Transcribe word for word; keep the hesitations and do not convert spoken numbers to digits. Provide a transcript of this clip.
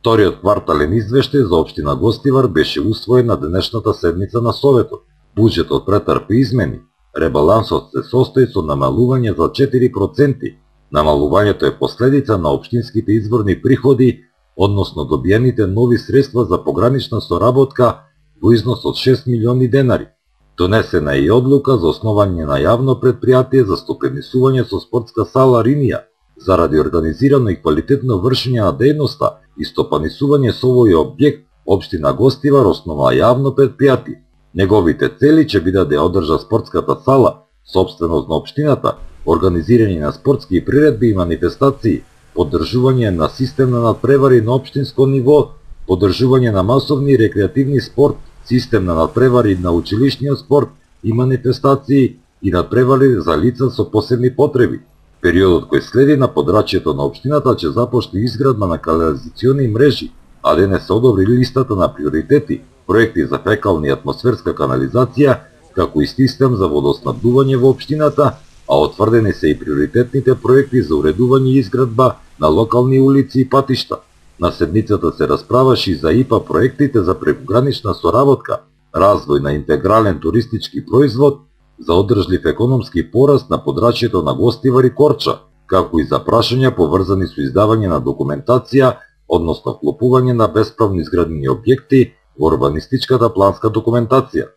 Вториот квартален извештај за општина Гостивар беше усвоен на денешната седница на Советот. Буџетот претрпи измени. Ребалансот се состои со намалување за четири проценти. Намалувањето е последица на општинските изворни приходи, односно добиените нови средства за погранична соработка во износ од шест милиони денари. Донесена е и одлука за основање на јавно предпријатие за стопенисување со спортска сала Ринија, заради организирано и квалитетно вршење на дејноста и стопанисување со овој објект, општина Гостивар основа јавно предпријатие. Неговите цели ќе бидат да ја одржа спортската сала, сопственост на општината, организирање на спортски приредби и манифестации, поддржување на систем на надпревари на општинско ниво, поддржување на масовни и рекреативни спорт, систем на надпревари на училишниот спорт и манифестации и надпревари за лица со посебни потреби. Периодот кој следи на подрачјето на општината ќе започне изградба на канализациони мрежи, а денес се одобри листата на приоритети, проекти за фекална и атмосферска канализација, како и систем за водоснабдување во општината, а отврдени се и приоритетните проекти за уредување и изградба на локални улици и патишта. На седницата се расправаше и за ИПА проектите за прекогранична соработка, развој на интегрален туристички производ, за одржлив економски пораст на подрачјето на Гостивар и Корча, како и за прашања поврзани со издавање на документација, односно вклопување на бесправно изградени објекти во урбанистичката планска документација.